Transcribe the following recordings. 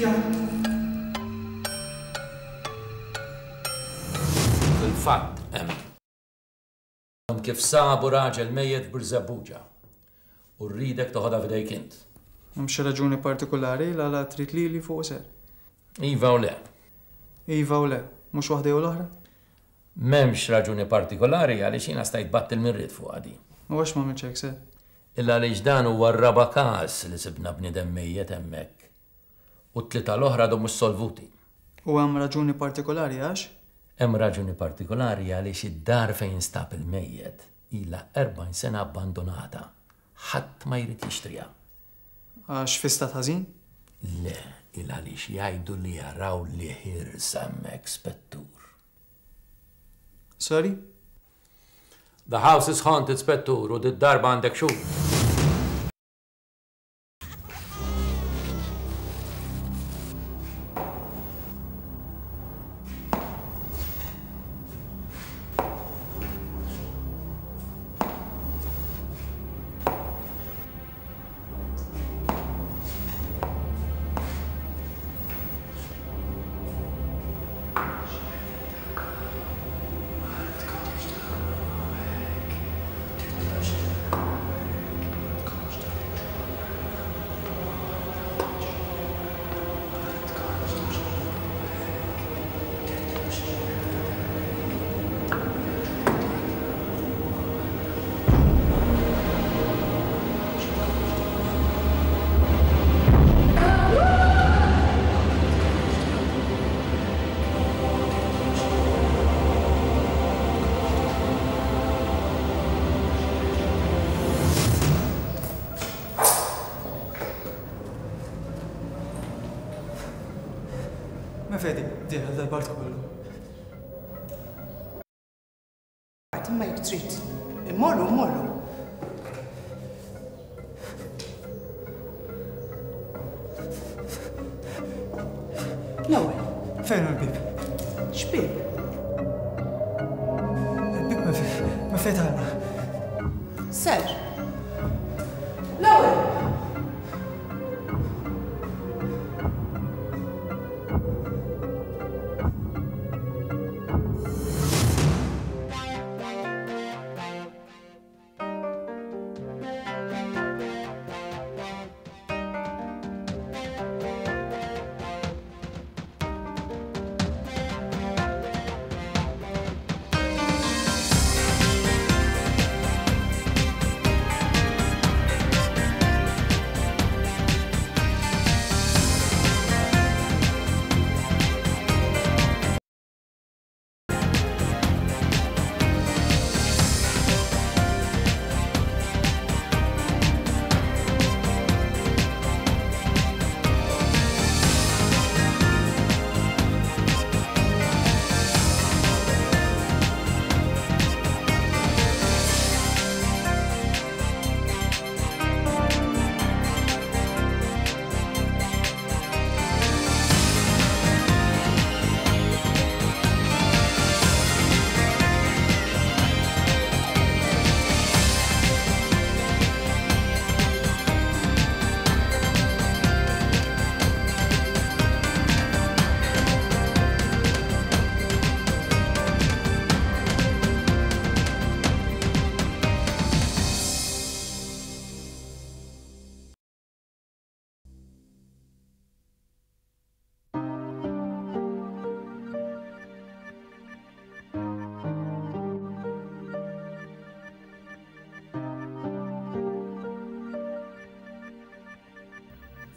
X'ġara? Fil-fatt hemm. Kif sabu raġel mejjet f'Birżebbuġa u rridek toħodha f'idejk int. Hemm xi raġuni partikulari l-għala trid lili fuqu ser? Iva u le. Iva u le, mhux waħda jew l-oħra? M'hemmx raġuni partikolari għaliex jiena stajt battil min ried fuqha din. U għax m'għamiltx hekk ser? Illa għaliex dan huwa r-raba' każ li sibna bniedem mejjet hemmhekk u t-tlieta l-oħra għadhom mhux solvuti. U hemm raġuni partikolari għax? Hemm raġuni partikolari għaliex id-dar fejn instab il-mejjet ilha 40 sena abbandunata. Ħadd ma jrid jixtriha. Għax fi stat ħażin? Le, il għaliex jgħidu li jaraw li ħirsa hemmhekk, Spettur. Sorry? The house is haunted, Spettur, u did-darba għandek xhud. Ma fejn dieħel dal-bart kollu? Imma jekk trid, immorru, mmorru. L-ewwel. Fejn hu l-bieb? X'bieb? Il-bieb ma fejn tagħna. Ser. L-ewwel.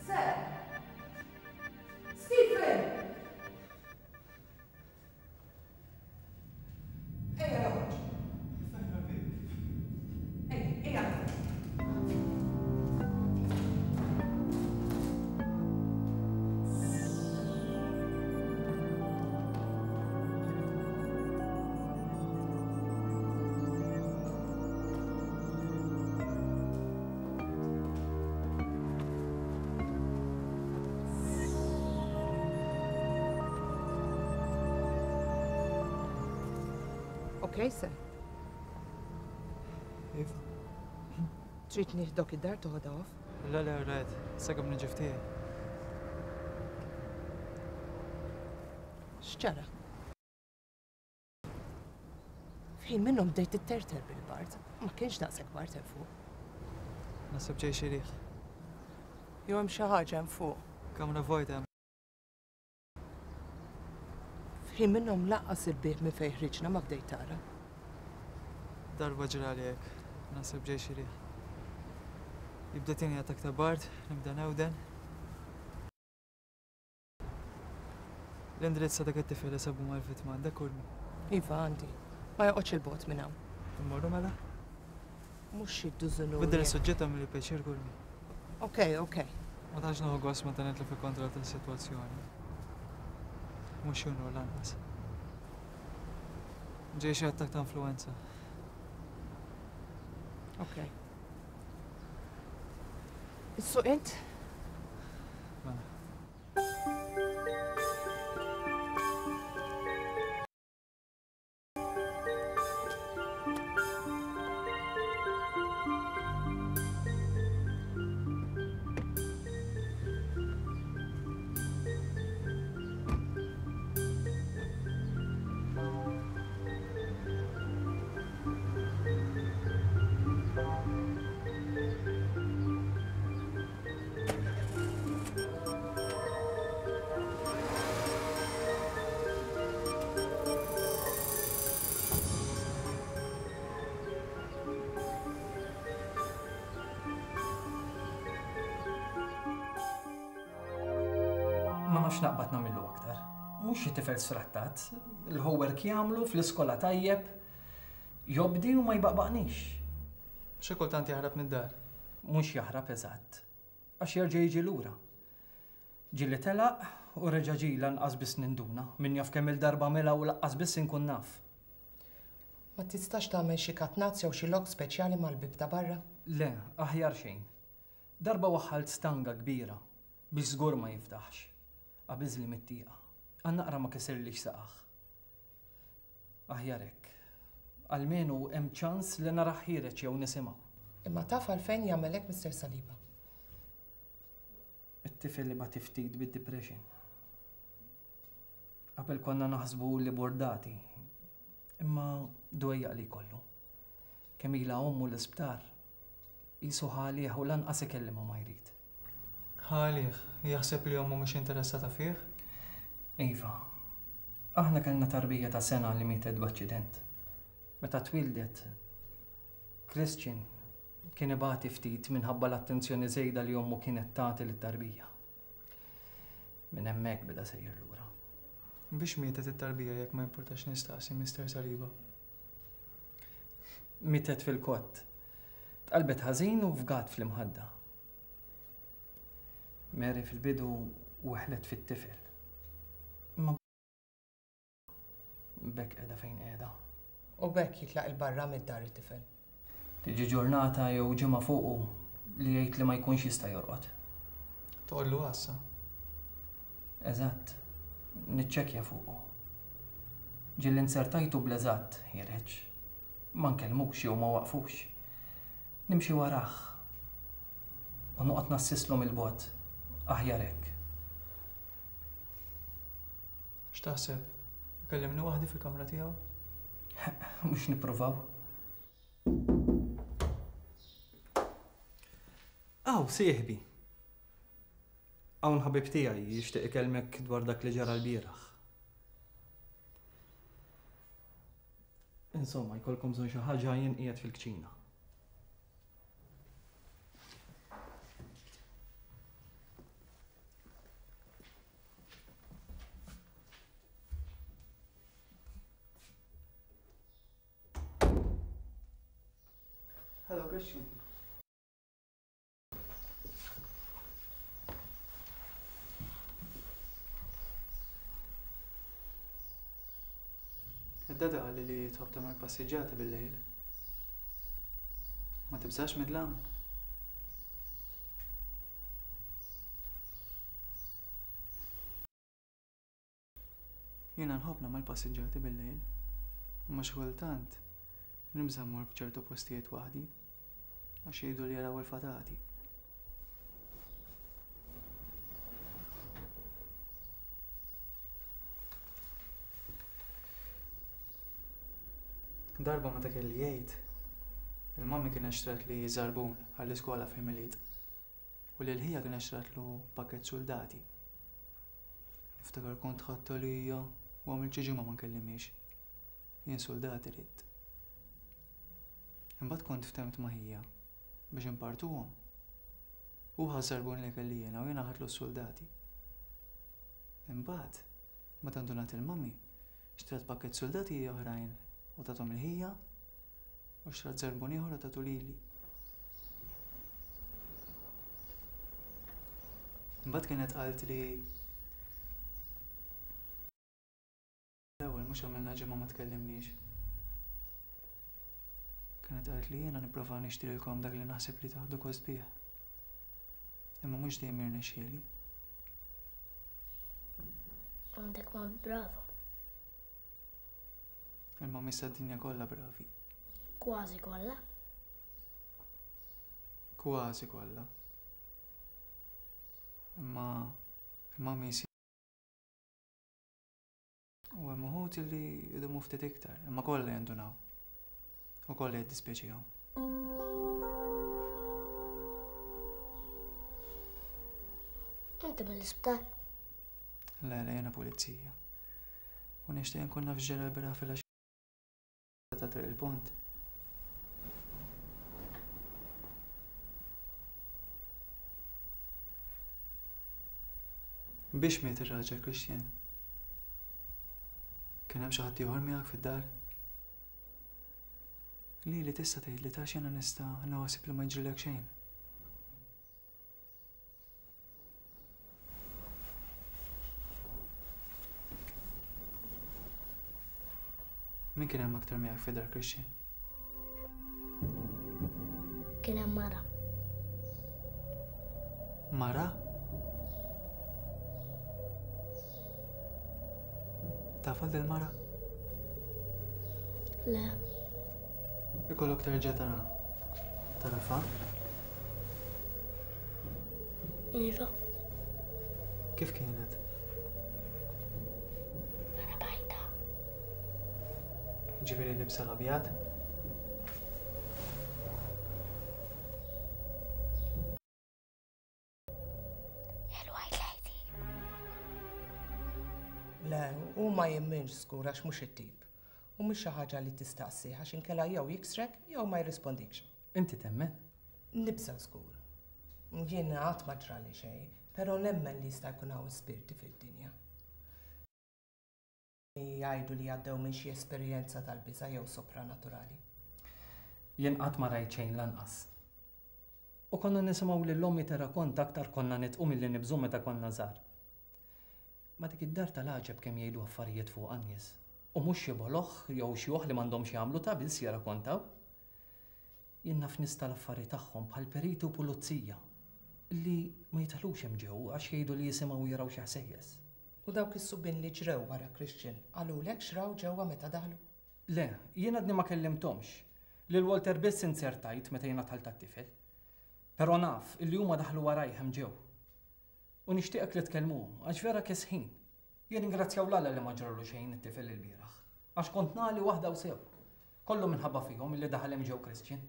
Sir! Stephen! Ejja noħroġ. Ejja, ejja. Ok, sir. Iva. Trid nieħdok id-dar toħodha off? Le, le, rajt, sakemm niġi ftiegħi. X'ġara? F'ħin minnhom bdejt titterter bil-bard. Ma kienx daqshekk bard hemm fuq. Naħseb ġej xi riħ. Jew hemm xi ħaġa hemm fuq. Kamra vojta hemm. F'ħin minnhom lanqas il-bieb minn fejn ħriġna ma bdejt tara. Darba ġrali hekk. Naħseb ġej xi riħ. Jibda tieni attakk ta' bard, nibda newden. L-indirizz ta' dak it-tifel li sabu mal-vittma għandek Urmi? Iva, għandi. Ma joqgħodx 'il bogħod minn hawn. Immorru mela? Mhux xi dużunuri. Biddel is-suġġett agħmilli pjaċir Urmi. Ok, ok. Ma tantx nieħu gost meta nitlef il-kontroll tas-sitwazzjoni. Mhux xi unur lanqas. Ġej xi attakk ta' influwenza. Ok. Issuq int? Mela. Ma nafx naqbad nagħmillu aktar. Mhux xi tifel sfrattat, il-homework jagħmlu fl-iskola tajjeb, jobdi u ma jbaqbaqnix. Xi kultant jaħrab mid-dar. Mhux jaħrab eżatt. Għax jerġa' jiġi lura. Ġieli telaq u reġa' ġie lanqas biss ninduna. Min jaf kemm-il darba għamilha u laqqas biss inkun naf. Ma tistax tagħmel xi katnazz jew xi lok speċjali mal-bieb ta' barra? Le, aħjar xejn. Darba waħħalt stanga kbira biex żgur ma jiftaħx. Qabiżli mit-tieqa. Għal naqra ma kisirlix saqajh. Aħjar hekk. Almenu hemm ċans li narah ħiereġ jew nisimgħu. Imma taf għalfejn jagħmel hekk Mister Saliba? It-tifel ibati ftit bid-depression. Qabel konna naħsbu li burdati. Imma dwejjaq li jkollu. Kemm ilha ommu l-isptar, qisu ħa għalih u lanqas ikellimha ma jrid. Ħa għalih? Jaħseb li ommu mhux interessata fih? Iva. Aħna kellna tarbija ta' sena li mietet b'aċċident. Meta twieldet, Christian kien ibati ftit minħabba l-attenzjoni żejda li ommu kienet tagħti lit-tarbija. Minn hemmhekk beda sejjer lura. Biex mietet it-tarbija jekk ma jimpurtax nistaqsi, Mister Saliba? Mietet fil-kott. Tqallbet ħażin u fgat fl-imħadda. Mary fil-bidu weħlet fit-tifel. Imma b'hekk qiegħda fejn qiegħda. U b'hekk jitlaq 'il barra mid-dar it-tifel. Tiġi ġurnata jew ġimgħa fuqu li jgħid li ma jkunx jista' jorqod. Toqgħodlu għassa. Eżatt. Niċċekkja fuqu. Ġieli nzertajtu bl-eżatt ħiereġ. Ma nkellmux jew ma waqfux. Nimxi warah u noqgħod nassislu mill-bogħod. Aħjar hekk. X'taħseb? Ikellimni waħdi fil-kamra tiegħu? Mhux nippruvaw. Aw, sieħbi! Hawn ħabib tiegħi jixtieq ikellmek dwar dak li ġara lbieraħ. Insomma, jkollkom bżonn xi ħaġa jien qiegħed fil-kċina. Hello, Christian. Id-dada qalli li tħobb tagħmel passiġġati bil-lejl. Ma tibżax mid-dlam? Jiena nħobb nagħmel passiġġati bil-lejl, imma xi kultant nibża' mmur f'ċertu postijiet waħdi għax jgħidu li jaraw il-fatati. Darba meta kelli jgħid, il-mummy kienet xtratli żarbun għall-iskola fil-Milied u lil ħija kienet xtratlu pakkett suldati. Niftakar kont ħadt għalija u għamilt xi ġimgħa ma nkellimhiex. Jien suldati ridt. Imbagħad kont ftemt ma' ħija biex inpartuhom. Hu ħa ż-żarbun li kelli jiena u jiena ħadtlu s-suldati. Imbagħad, meta ndunat il-mummy, Xtrat pakkett suldati oħrajn u tathom 'il ħija u xtrat żarbun ieħor u tatu lili. Imbagħad kienet qaltli l-ewwel mhux għamilna ġimgħa ma tkellimniex. Kienet qaltli jiena nipprova nixtrilkom dak li naħseb li taħdu gost bih. Imma mhux dejjem jirnexxieli. Għandek mami brava. Il-mami tad-dinja kollha bravi. Kważi kollha. Kważi kollha. Imma il-mami U hemm uħud li jdumu ftit iktar, imma kollha jindunaw. U kollha jiddispjaċihom. Inti mill-isptar? Le, le, jiena pulizija. U nixtieq nkun naf x'ġara l-bieraħ filgħaxija. Ta' Triq il-Pont. Biex miet ir-raġel Christian? Kien hemm xi ħadd ieħor miegħek fid-dar? Lili tista' tgħidli ta' jiena nista' naħseb li ma jiġrilek xejn. Min kien hemm aktar miegħek fid-dar, Christian? Kien hemm mara. Mara? Taf għal mara? Le. Ikollok terġa' tara. Tarafa? Iva. Kif kienet? Mara bajda. Ġifieri libsa l-abjad? Il-White Lady. Le, hu ma jemminx żgur għax mhux it-tip. U mhux xi ħaġa li tistaqsih għax inkella jew jiksrek jew ma jirrispondikx. Inti temmen? Nibża' żgur. Jien qatt ma ġrali xejn, però nemmen li jista' jkun hawn spirti fid-dinja. Jgħidu li għaddew minn xi esperjenza tal-biża' jew sopranaturali. Jien qatt ma rajt xejn lanqas. U konna nisimgħu lil ommi tirrakonta aktar konna nidħqu milli nibżgħu meta konna żgħar. Ma dik id-dar tal-għaġeb kemm jgħidu affarijiet fuqha n-nies. U mhux xi boloh jew xjuħ li m'għandhom x'jagħmlu ta' biss jirrakontaw. Jien naf nies tal-affari tagħhom bħal periti u pulizija li ma jidħlux hemm ġew għax jgħidu li jisimgħu u jaraw xi ħsejjes. U dawk is-subien li ġrew wara Christian qalulek x'raw ġewwa meta daħlu? Le, jien għadni ma kellimthomx. Lil Walter biss inzertajt meta jiena dħalt għat-tifel. Però naf illi huma daħlu warajh hemm ġew. U nixtieqek li tkellmuhom għax vera kesħin. Jirringrazzjaw 'l Alla li ma ġralu xejn it-tifel ilbieraħ. Għax kont nagħli waħda u sew. Kollu minħabba fihom illi daħal hemm ġew Christian.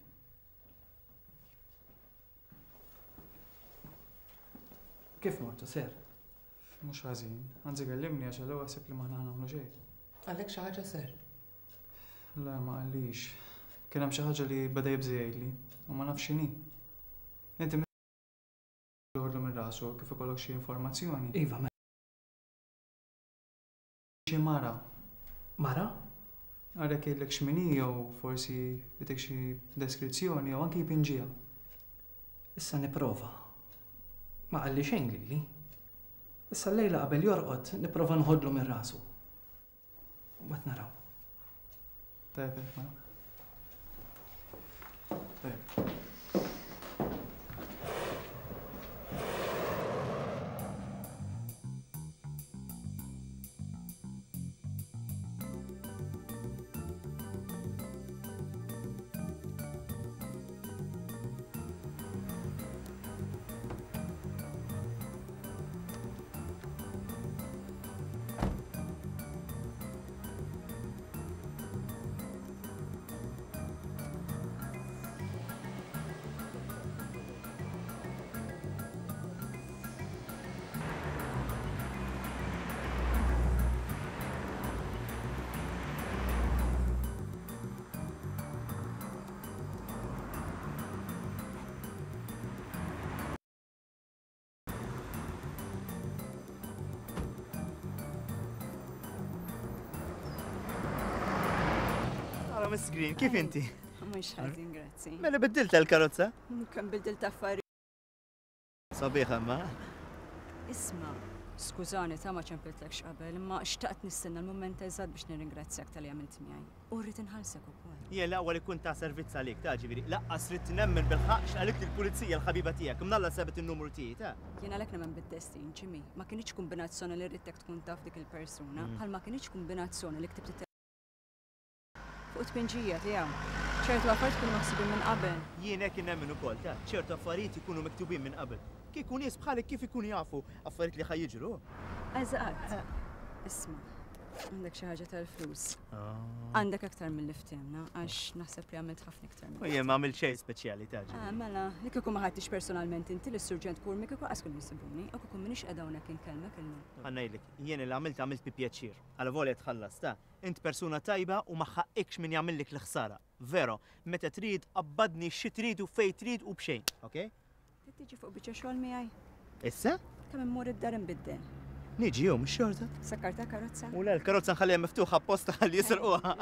Kif mortu, sir? Mhux ħażin. Anzi kellimni għax għal ħaseb li m'aħna nagħmlu xejn. Qalek xi ħaġa, sir? Le, ma qallix. Kien hemm xi ħaġa li beda jibża' jgħidli u ma nafx x'inhi. Inti joħodlu minn rasu kif ikollok xi informazzjoni. Iva, mela. Xi mara. Mara? Għalhekk jgħidlek x'min hi jew forsi jtik xi deskrizzjoni jew anki jpinġiha. Issa nipprova. Ma qalli xejn lili. Issa llejla qabel jorqod nipprova nħodlu minn rasu. Mbagħad naraw. Tajjeb hekk mela. Tajjeb. Ara Miss Green, kif inti? Mhux ħażin, grazzi. Mela biddilt l-karozza? Kemm biddilt affarijiet. Sabiħa ma. Isma', skużani ta' ma ċempiltlekx qabel, imma xtaqt nistenna l-mument eżatt biex nirringrazzjak talli għamilt miegħi. U rrid inħallsek ukoll. Jien l-aqwa li kont ta' servizz għalik, ta' ġifieri, laqqas ridt nemmen bil-ħaqq x'qalitli l-pulizija l-ħabiba tiegħek, mnalla sabet in-numru tiegħi, ta'. Jien għalhekk nemmen bid-destin, Jimmy. Ma kinitx kumbinazzjoni li ridtek tkun taf dik il-persuna, bħalma kinitx kumbinazzjoni li ktibt Fuq it-tpinġija tiegħu. Ċertu affarijiet ikunu maħsubin minn qabel. Jien hekk nemmen ukoll, taf, ċertu affarijiet ikunu miktubin minn qabel. Kieku nies bħalek kif ikunu jafu affarijiet li ħa jiġru? Eżatt. Isma', għandek xi ħaġa tal-flus. Għandek aktar milli ftehimna, għax naħseb li għamilt ħafna iktar minn. U jien ma għamilt xejn speċjali, taf. Ah, mela, li kieku ma ħadtix personalment inti lis-Surġent Curmi kieku qas kienu jsibuni, u kieku m'iniex qiegħda hawnhekk inkellmek illum. Ħa ngħidlek, jien li għamilt għamilt bi pjaċir. Alavolja tħallast, ta. Int persuna tajba u ma ħaqqikx min jagħmillek l-ħsara. Vero, meta trid qabbadni xi trid u fejn trid u b'xejn, ok? Trid tiġi fuq biċċa xogħol miegħi? Issa? Kemm immur id-dar inbiddel. Niġi jum xorta. Sakkarta karozza? U le, l-karozza nħalliha miftuħa apposta ħalli jisirquha.